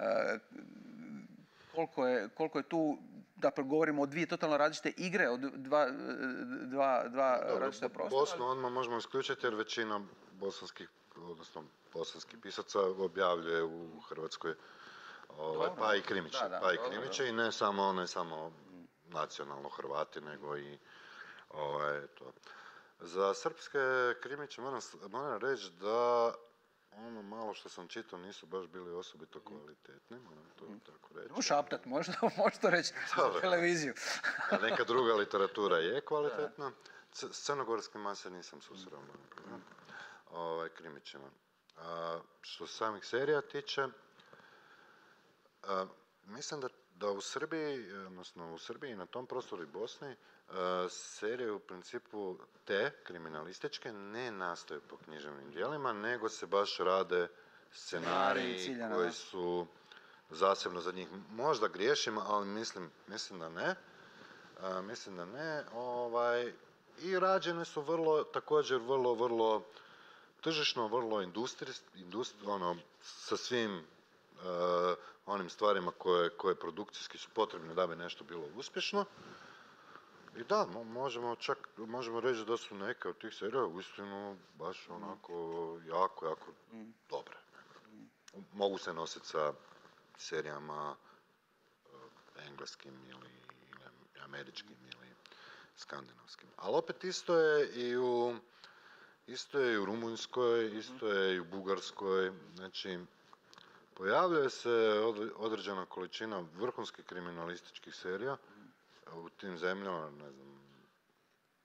[SPEAKER 1] koliko je, koliko je tu, dakle govorimo o dvije totalno različite igre, od dva, dva, dva različita prostora.
[SPEAKER 3] Bosnu odmah možemo isključiti jer većina bosanskih, odnosno bosanskih pisaca objavljuje u Hrvatskoj, ovaj, pa i krimiće, da, da, pa i krimiće i ne samo, ne samo nacionalno Hrvati, nego i ovaj, to. Za srpske krimiće moram, moram reći da ono malo što sam čitao nisu baš bili osobito kvalitetni, moram to tako reći.
[SPEAKER 1] Možeš šaptat, možeš to reći za televiziju.
[SPEAKER 3] A neka druga literatura je kvalitetna. C- s crnogorskim se nisam susreo, mm. ovaj, krimićima. A, što samih serija tiče, a, mislim da, da u Srbiji, odnosno u Srbiji na tom prostoru i Bosni, a, serije u principu te kriminalističke ne nastaju po književnim djelima, nego se baš rade scenariji ciljana, koji su zasebno za njih. Možda griješim, ali mislim, mislim da ne. A, mislim da ne. Ovaj, i rađene su vrlo, također vrlo, vrlo tržišno, vrlo industrijski, industri, ono, sa svim uh, onim stvarima koje, koje produkcijski su potrebne da bi nešto bilo uspješno. I da, možemo čak, možemo reći da su neke od tih serija uistinu baš onako jako, jako mm. dobre. Mogu se nositi sa serijama uh, engleskim ili, ili američkim ili skandinavskim. Ali opet isto je i u isto je i u Rumunjskoj, isto je i u Bugarskoj. Znači, pojavljuje se određena količina vrhunskih kriminalističkih serija u tim zemljama, ne znam,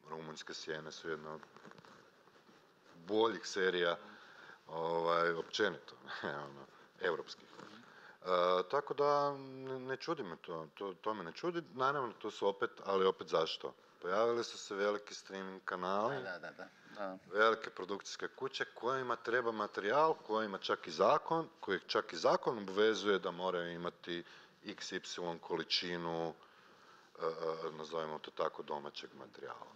[SPEAKER 3] Rumunjske sjene su jedna od boljih serija, ovaj, općenito, ono, evropskih. E, tako da ne, ne čudi me to, to, to me ne čudi. Naravno, to su opet, ali opet zašto? Pojavili su se veliki streaming kanali,
[SPEAKER 1] da, da, da, da.
[SPEAKER 3] velike produkcijske kuće kojima treba materijal, kojima čak i zakon, kojih čak i zakon obvezuje da moraju imati iks ipsilon količinu, e, e, nazovimo to tako, domaćeg materijala.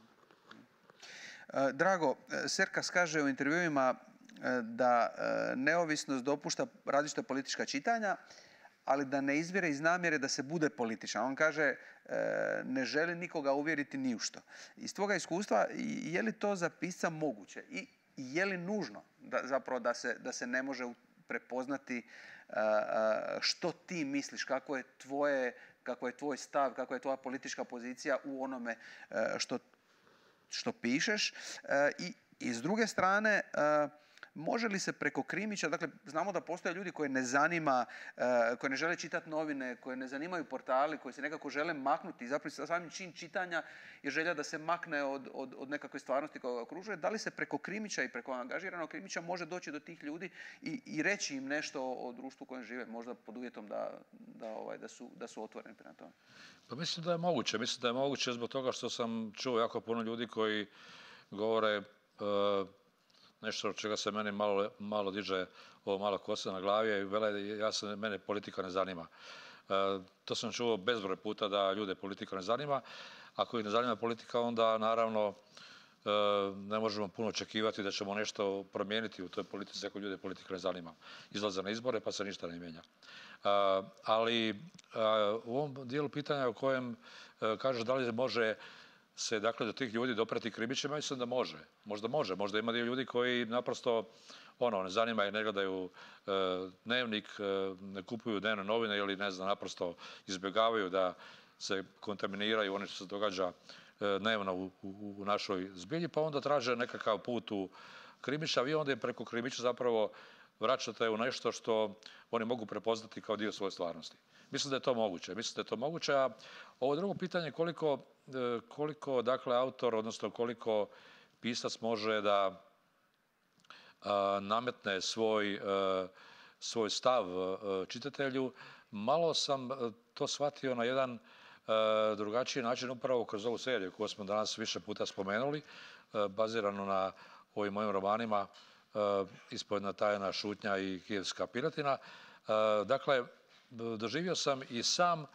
[SPEAKER 1] Drago, Serkas kaže u intervjuima da neovisnost dopušta različita politička čitanja, ali da ne izvire iz namjere da se bude političan. On kaže, ne želi nikoga uvjeriti ni u što. Iz tvoga iskustva, je li to za pisca moguće? I je li nužno da, zapravo da se, da se ne može prepoznati što ti misliš, kako je tvoje, kako je tvoj stav, kako je tvoja politička pozicija u onome što, što pišeš? I, i s druge strane, može li se preko krimića, dakle, znamo da postoje ljudi koje ne zanima, uh, koji ne žele čitati novine, koje ne zanimaju portali, koji se nekako žele maknuti. Zapravo samim čin čitanja je želja da se makne od, od, od nekakve stvarnosti koja ga okružuje. Da li se preko krimića i preko angažiranog krimića može doći do tih ljudi i, i reći im nešto o društvu u kojem žive, možda pod uvjetom da, da, ovaj, da, su, da su otvoreni prema tome?
[SPEAKER 2] Pa mislim da je moguće. Mislim da je moguće zbog toga što sam čuo jako puno ljudi koji govore uh, nešto od čega se meni malo, malo diže ovo malo kosa na glavi i vele, ja se, mene politika ne zanima. E, to sam čuo bezbroj puta da ljude politika ne zanima. Ako ih ne zanima politika, onda naravno e, ne možemo puno očekivati da ćemo nešto promijeniti u toj politici ako ljude politika ne zanima. Izlaze na izbore pa se ništa ne mijenja. E, ali e, u ovom dijelu pitanja u kojem e, kažeš da li može se dakle do tih ljudi doprati kribićima, mislim da može. Možda može, možda ima dio ljudi koji naprosto ono, ne zanima ih, ne gledaju e, dnevnik, e, ne kupuju dnevne novine ili ne znam, naprosto izbjegavaju da se kontaminiraju ono što se događa e, dnevno u, u, u našoj zbilji, pa onda traže nekakav put u krimića, vi onda preko krimića zapravo vraćate u nešto što oni mogu prepoznati kao dio svoje stvarnosti. Mislim da je to moguće. Mislim da je to moguće, a ovo drugo pitanje koliko, koliko dakle, autor, odnosno koliko pisac može da a, nametne svoj, a, svoj stav a, čitatelju, malo sam to shvatio na jedan a, drugačiji način upravo kroz ovu seriju koju smo danas više puta spomenuli, a, baziranu na ovim mojim romanima a, Ispovjedna tajna, Šutnja i Kijevska piletina. A, dakle, doživio sam i sam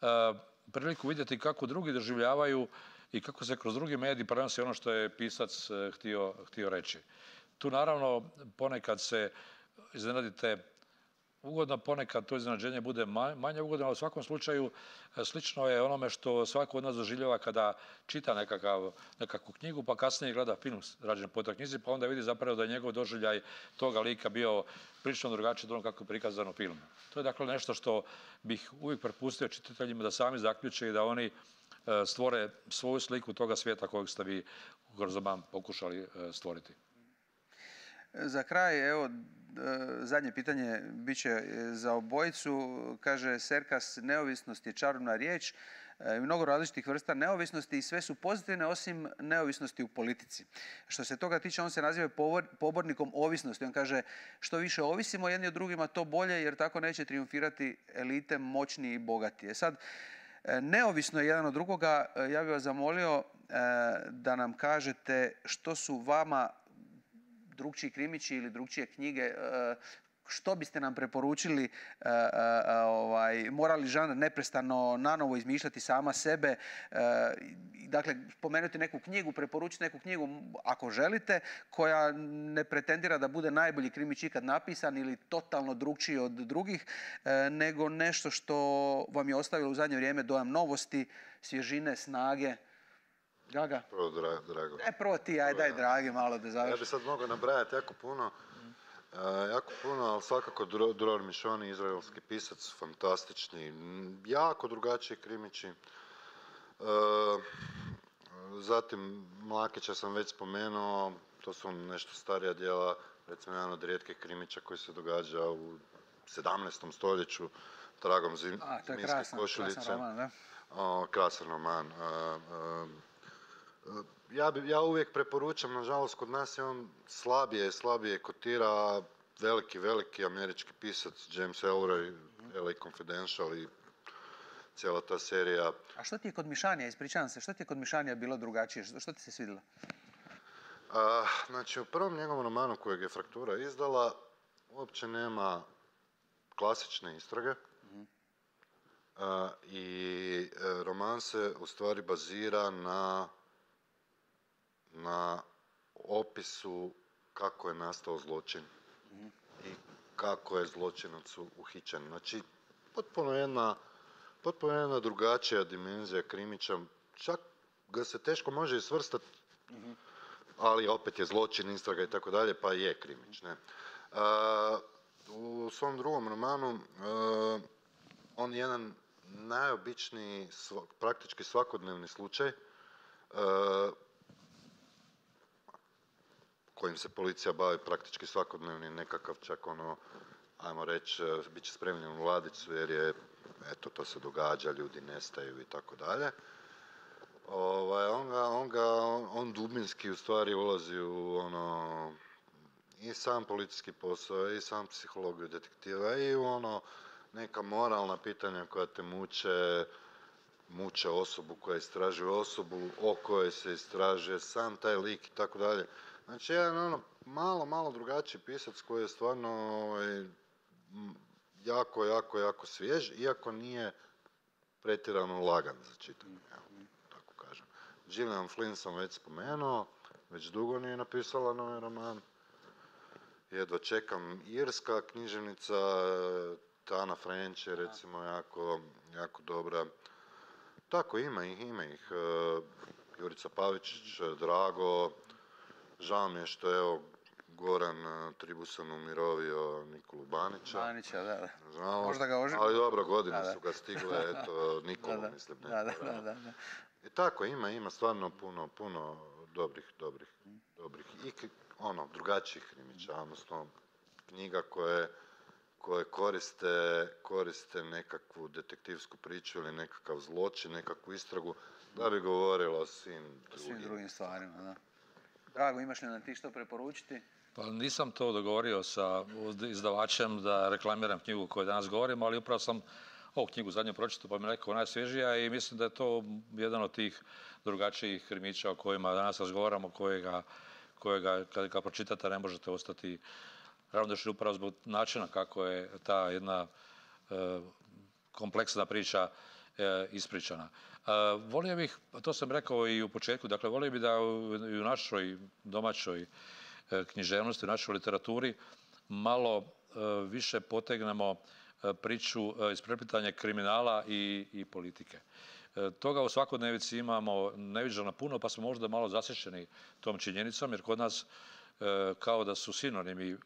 [SPEAKER 2] a, priliku vidjeti kako drugi doživljavaju i kako se kroz drugi medij prenosi ono što je pisac a, htio, htio reći. Tu naravno ponekad se iznenadite ugodno, ponekad to iznenađenje bude manje ugodno, ali u svakom slučaju slično je onome što svako od nas doživljava kada čita nekakav, nekakvu knjigu, pa kasnije gleda film rađen po toj knjizi, pa onda vidi zapravo da je njegov doživljaj toga lika bio prilično drugačiji od onog kako je prikazano u filmu. To je dakle nešto što bih uvijek prepustio čitateljima da sami zaključe i da oni stvore svoju sliku toga svijeta kojeg ste vi kroz roman pokušali stvoriti.
[SPEAKER 1] Za kraj, evo, zadnje pitanje bit će za obojicu. Kaže Serkas, neovisnost je čarobna riječ, mnogo različitih vrsta neovisnosti i sve su pozitivne osim neovisnosti u politici. Što se toga tiče, on se naziva pobornikom ovisnosti. On kaže, što više ovisimo jedni od drugima, to bolje, jer tako neće triumfirati elite, moćni i bogati. E sad, neovisno je jedan od drugoga, ja bih vas zamolio da nam kažete što su vama drugčiji krimići ili drugčije knjige, što biste nam preporučili, ovaj, mora li žanr neprestano nanovo izmišljati sama sebe, dakle, spomenuti neku knjigu, preporučiti neku knjigu ako želite, koja ne pretendira da bude najbolji krimić ikad napisan ili totalno drugčiji od drugih, nego nešto što vam je ostavilo u zadnje vrijeme dojam novosti, svježine, snage. Gaga?
[SPEAKER 3] Prvo, dra, drago.
[SPEAKER 1] E, prvo ti, aj, daj, dragi, malo da završi.
[SPEAKER 3] Ja bi sad mogao nabrajati jako puno, uh, jako puno, ali svakako Dror Mišoni, izraelski pisac, fantastični, jako drugačiji krimići. Uh, zatim, Mlakića sam već spomenuo, to su nešto starija djela, recimo jedan od rijetkih krimića koji se događa u sedamnaestom stoljeću, Tragom zmijske košuljice.
[SPEAKER 1] Krasan roman, da?
[SPEAKER 3] Uh, krasan roman. Uh, uh, Ja, bi, ja uvijek preporučam, nažalost kod nas je on slabije, slabije kotira, veliki, veliki američki pisac James Ellroy, L A Confidential i cijela ta serija.
[SPEAKER 1] A što ti je kod Mišanija, ispričavam se, što ti je kod Mišanija bilo drugačije, što ti se svidjelo?
[SPEAKER 3] A, znači u prvom njegovom romanu kojeg je Fraktura izdala, uopće nema klasične istrage. Mm-hmm. A, i roman se u stvari bazira na na opisu kako je nastao zločin mm-hmm. i kako je zločinac uhićen. Znači, potpuno jedna, potpuno jedna drugačija dimenzija krimića. Čak ga se teško može i svrstati, mm-hmm. ali opet je zločin, istraga i tako dalje, pa je krimić. Ne? Uh, u svom drugom romanu uh, on je jedan najobičniji, sv- praktički svakodnevni slučaj uh, kojim se policija bavi praktički svakodnevni, nekakav čak ono, ajmo reći, bit će spremljen u ladicu jer je, eto, to se događa, ljudi nestaju i tako dalje. Ovaj, on ga, on ga, on dubinski u stvari ulazi u ono, i sam policijski posao, i sam psihologiju detektiva, i u ono, neka moralna pitanja koja te muče, muče osobu koja istražuje osobu, o kojoj se istražuje, sam taj lik i tako dalje. Znači, jedan ono malo, malo drugačiji pisac koji je stvarno ovaj, jako, jako, jako svjež, iako nije pretjerano lagan za čitanje, evo, tako kažem. Gillian Flynn sam već spomenuo, već dugo nije napisala novi roman. Jedva čekam, irska književnica, Tana French je recimo jako, jako dobra. Tako, ima ih, ima ih. Jurica Pavičić, Drago. Žao mi je što je evo Goran Tribusan umirovio Nikolu Banića.
[SPEAKER 1] Banića, da, da.
[SPEAKER 3] Žao,
[SPEAKER 1] Možda ga oži...
[SPEAKER 3] ali dobro, godine
[SPEAKER 1] da, da.
[SPEAKER 3] su ga stigle, eto, Nikolu,
[SPEAKER 1] da, da.
[SPEAKER 3] mislim. Ne,
[SPEAKER 1] da, da, da, da, da.
[SPEAKER 3] I tako, ima, ima stvarno puno, puno dobrih, dobrih, dobrih i ono, drugačijih krimića, odnosno knjiga koje, koje koriste, koriste nekakvu detektivsku priču ili nekakav zločin, nekakvu istragu, da bi govorilo o svim drugim,
[SPEAKER 1] svim drugim stvarima. Da. Drago, imaš li nam ti što preporučiti?
[SPEAKER 2] Pa nisam to dogovorio sa izdavačem da reklamiram knjigu koju danas govorimo, ali upravo sam ovu knjigu zadnju pročitao pa mi je rekao najsvježija i mislim da je to jedan od tih drugačijih krimića o kojima danas razgovaramo, kojega, kojega kad ga pročitate ne možete ostati ravnodušni upravo zbog načina kako je ta jedna e, kompleksna priča e, ispričana. E, volio bih, to sam rekao i u početku, dakle volio bih da u, i u našoj domaćoj e, književnosti, u našoj literaturi malo e, više potegnemo e, priču e, ispreplitanja kriminala i, i politike. E, toga u svakodnevici imamo neviđeno puno, pa smo možda malo zasječeni tom činjenicom, jer kod nas e, kao da su sinonimi e,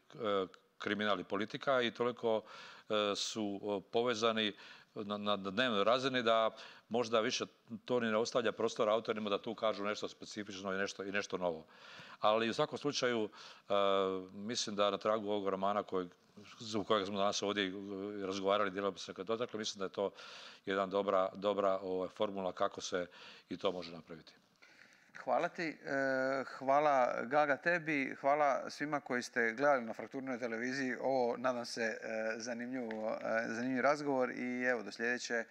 [SPEAKER 2] kriminal i politika i toliko e, su povezani na, na dnevnoj razini da možda više to ni ne ostavlja prostora autorima da tu kažu nešto specifično i nešto, i nešto novo. Ali u svakom slučaju e, mislim da na tragu ovog romana kojeg, zbog kojeg smo danas ovdje razgovarali, dijelom bi se kad dotakle, mislim da je to jedna dobra, dobra ovaj, formula kako se i to može napraviti.
[SPEAKER 1] Hvala ti, hvala Gaga tebi, hvala svima koji ste gledali na Frakturnoj televiziji. Ovo, nadam se, zanimljiv, zanimljiv razgovor i evo, do sljedeće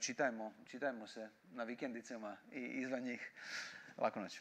[SPEAKER 1] čitajmo, čitajmo se na vikendicama i izvan njih. Laku noć.